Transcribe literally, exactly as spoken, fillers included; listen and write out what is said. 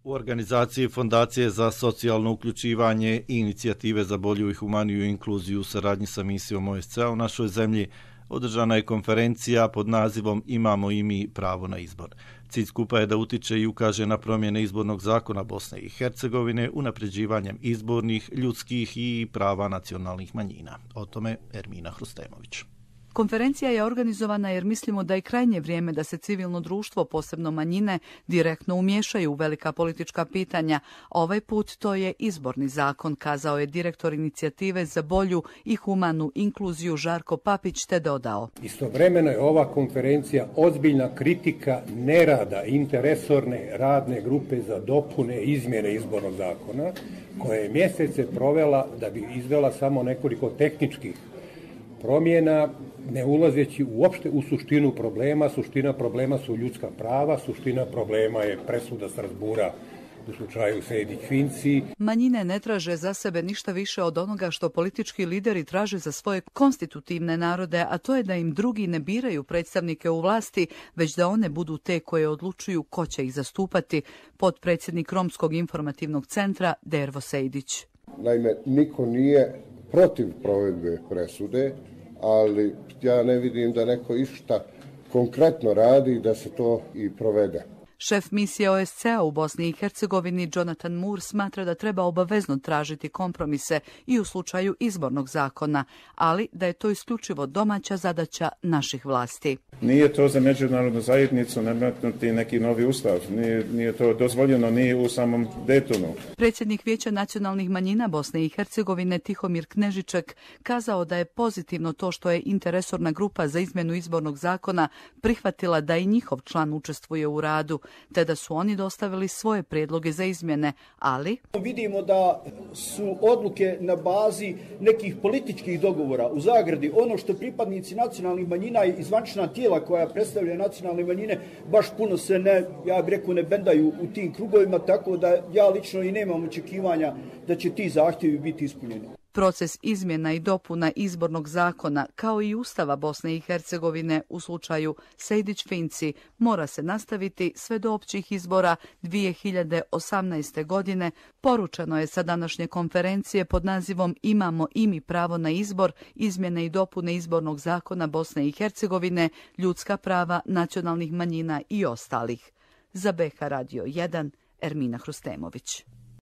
U organizaciji Fondacije za socijalno uključivanje i inicijative za bolju i humaniju inkluziju u saradnji sa misijom O S C E u našoj zemlji održana je konferencija pod nazivom Imamo i mi pravo na izbor. Cilj skupa je da utiče i ukaže na promjene izbornog zakona Bosne i Hercegovine unapređivanjem izbornih, ljudskih i prava nacionalnih manjina. O tome Ermina Hrustemović. Konferencija je organizovana jer mislimo da je krajnje vrijeme da se civilno društvo, posebno manjine, direktno umiješaju u velika politička pitanja. Ovaj put to je izborni zakon, kazao je direktor inicijative za bolju i humanu inkluziju Žarko Papić, te dodao. Istovremeno je ova konferencija ozbiljna kritika nerada interresorne radne grupe za dopune izmjene izbornog zakona, koja je mjesece provela da bi izvela samo nekoliko tehničkih promjena, ne ulazeći uopšte u suštinu problema. Suština problema su ljudska prava, suština problema je presuda Strasbura u slučaju Sejdić-Finci. Manjine ne traže za sebe ništa više od onoga što politički lideri traže za svoje konstitutivne narode, a to je da im drugi ne biraju predstavnike u vlasti, već da one budu te koje odlučuju ko će ih zastupati, potpredsjednik Romskog informativnog centra Dervo Sejdić. Naime, niko nije protiv provedbe presude, ali ja ne vidim da neko išta konkretno radi da se to i provede. Šef misije O S C E u Bosni i Hercegovini Jonathan Moore smatra da treba obavezno tražiti kompromise i u slučaju izbornog zakona, ali da je to isključivo domaća zadaća naših vlasti. Nije to za međunarodnu zajednicu nametnuti neki novi ustav, nije, nije to dozvoljeno ni u samom Daytonu. Predsjednik Vijeća nacionalnih manjina Bosne i Hercegovine Tihomir Knežiček kazao da je pozitivno to što je interresorna grupa za izmjenu izbornog zakona prihvatila da i njihov član učestvuje u radu, te da su oni dostavili svoje prijedloge za izmjene, ali vidimo da su odluke na bazi nekih političkih dogovora. U zagradi ono što pripadnici nacionalnih manjina i zvančna tijela koja predstavljaju nacionalne manjine baš puno se ne, ja bih rekao, ne bendaju u tim krugovima, tako da ja lično i nemam očekivanja da će ti zahtjevi biti ispunjeni. Proces izmjena i dopuna izbornog zakona, kao i Ustava Bosne i Hercegovine u slučaju Sejdić-Finci, mora se nastaviti sve do općih izbora dvije hiljade osamnaeste. godine, poručeno je sa današnje konferencije pod nazivom Imamo i mi pravo na izbor, izmjene i dopune izbornog zakona Bosne i Hercegovine, ljudska prava nacionalnih manjina i ostalih. Za B H Radio jedan, Ermina Hrustemović.